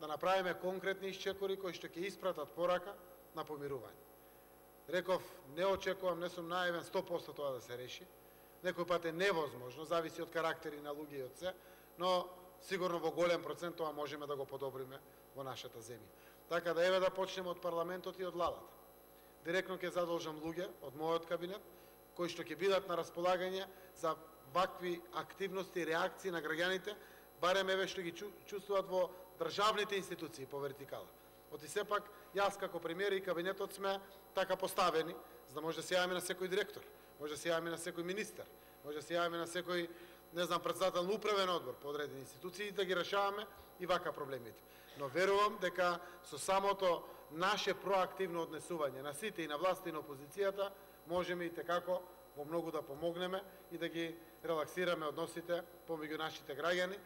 да направиме конкретни исчекори кои што ќе испратат порака на помирување. Реков, не очекувам, не сум наивен 100% тоа да се реши. Некој пат е невозможно, зависи од карактери на луѓе и од се, но сигурно во голем процент тоа можеме да го подобриме во нашата земја. Така да еве да почнеме од парламентот и од владата. Директно ќе задолжам луѓе од мојот кабинет кои што ќе бидат на располагање за вакви активности и реакции на граѓаните, барем еве што ги чувствуваат во државните институции по вертикала. Оти сепак, јас како премиер и кабинетот сме така поставени, за да може да се јавиме на секој директор, може да се јавиме на секој министер, може да се јавиме на секој, не знам, председател на управен одбор по одредени институции, да ги решаваме и вака проблемите. Но верувам дека со самото наше проактивно однесување на сите и на власта и на опозицијата, можеме и текако во многу да помогнеме и да ги релаксираме односите помеѓу нашите граѓани,